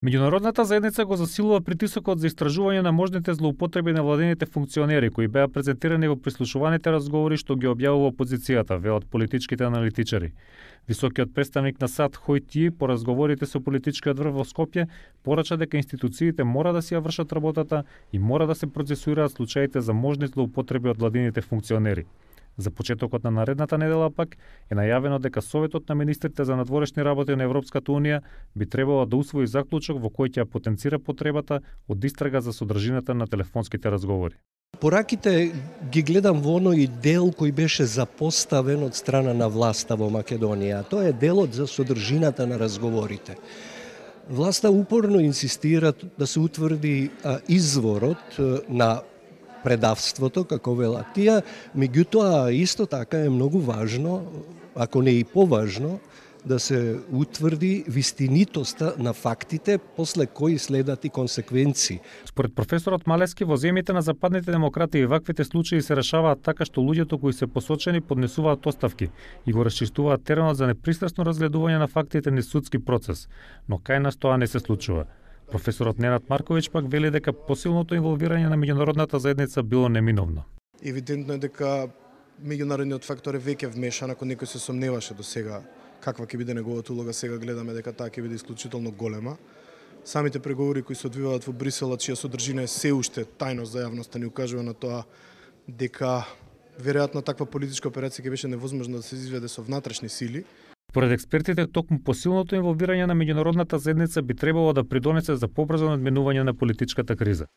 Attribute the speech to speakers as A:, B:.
A: Меѓународната заедница го засилува притисокот за истражување на можните злоупотреби на владените функционери кои беа презентирани во прислушуваните разговори што ги објавува опозицијата, велат политичките аналитичари. Високиот представник на САД Хој Ти по разговорите со политичкиот врв во Скопје порача дека институциите мора да си ја вршат работата и мора да се процесуираат случаите за можни злоупотреби од владените функционери. За почетокот на наредната недела пак е најавено дека Советот на министрите за надворешни работи на Европската унија би требало да усвои заклучок во кој ќе потенцира потребата од истрага за содржината на телефонските разговори.
B: Пораките ги гледам во оној дел кој беше запоставен од страна на власта во Македонија. Тоа е делот за содржината на разговорите. Власта упорно инсистира да се утврди изворот на предавството, како велат тие, меѓутоа исто така е многу важно, ако не и поважно, да се утврди вистинитоста на фактите, после кои следат и консеквенции.
A: Според професорот Малески, во земјите на западните демократии ваквите случаи се решаваат така што луѓето кои се посочени поднесуваат оставки и го расчистуваат теренот за непристрасно разгледување на фактите низ судски процес, но кај нас тоа не се случува. Професорот Ненад Марковиќ пак вели дека посилното инволвирање на меѓународната заедница било неминовно.
C: Евидентно е дека меѓународниот фактор е веќе вмешан, ако некој се сомневаше до сега каква ќе биде неговата улога, сега гледаме дека таа ќе биде исклучително голема. Самите преговори кои се одвиваат во Брисел, чија содржина е се уште тајност за јавноста, ни укажува на тоа дека веројатно таква политичка операција ќе беше невозможно да се изведе со внатрешни сили.
A: Според експертите, токму посилното инволвирање на меѓународната заедница би требало да придонесе за побрзо надминување на политичката криза.